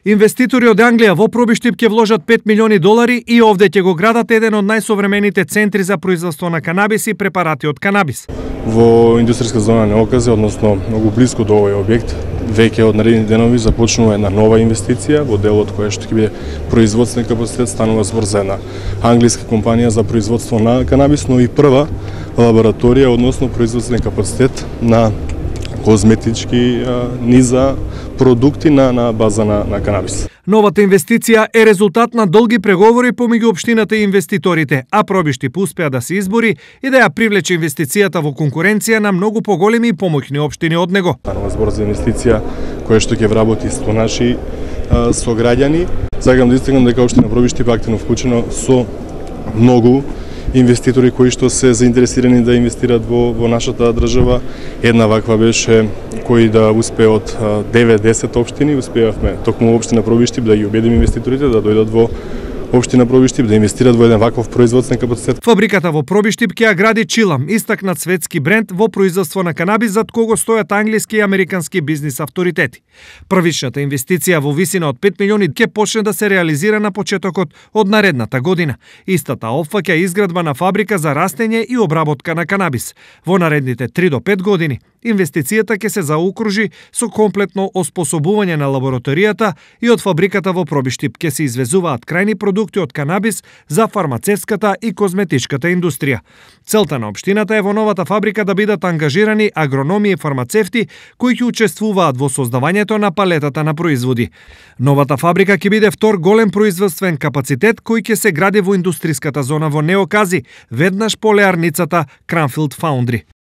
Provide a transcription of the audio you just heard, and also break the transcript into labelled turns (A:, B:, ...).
A: Инвеститори од Англија во Пробиштип ќе вложат $5 милиони и овде ќе го градат еден од најсовремените центри за производство на канабис и препарати од канабис.
B: Во индустријска зона Неоказе, односно многу близко до овој објект, веќе од наредни денови започнува една нова инвестиција во делот која што ќе биде производствен капацитет, станува збор за една англиска компанија за производство на канабис, но и прва лабораторија, односно производствен капацитет на козметички низа продукти на база на канабис.
A: Новата инвестиција е резултат на долги преговори помеѓу општината и инвеститорите, а Пробиштип успеа да се избори и да ја привлече инвестицијата во конкуренција на многу поголеми и помоќни општини од него.
B: Станува збор за инвестиција која што ќе вработи 100 наши сограѓани. Сакам да истакнам дека општина Пробиштип активно вклучено со многу инвеститори кои што се заинтересирани да инвестираат во нашата држава. Една ваква беше кои да успее од 9-10 општини, успеавме токму општина Пробиштип да ги убедиме инвеститорите да дојдат во општина Пробиштип, да инвестираат во еден ваков производствен капацитет.
A: Фабриката во Пробиштип ќе ја гради Чилам, истакнат светски бренд во производство на канабис, зад кого стојат англиски и американски бизнис авторитети. Првичната инвестиција во висина од $5 милиони ќе почне да се реализира на почетокот од наредната година. Истата опфаќа изградба на фабрика за растење и обработка на канабис. Во наредните 3 до 5 години инвестицијата ќе се заокружи со комплетно оспособување на лабораторијата и од фабриката во Пробиштип ќе се извезуваат крајни продукти од канабис за фармацевската и козметичката индустрија. Целта на општината е во новата фабрика да бидат ангажирани агрономи и фармацевти кои ќе учествуваат во создавањето на палетата на производи. Новата фабрика ќе биде втор голем производствен капацитет кој ќе се гради во индустриската зона во Неокази, веднаш по леарницата Кранфилд Фаундри.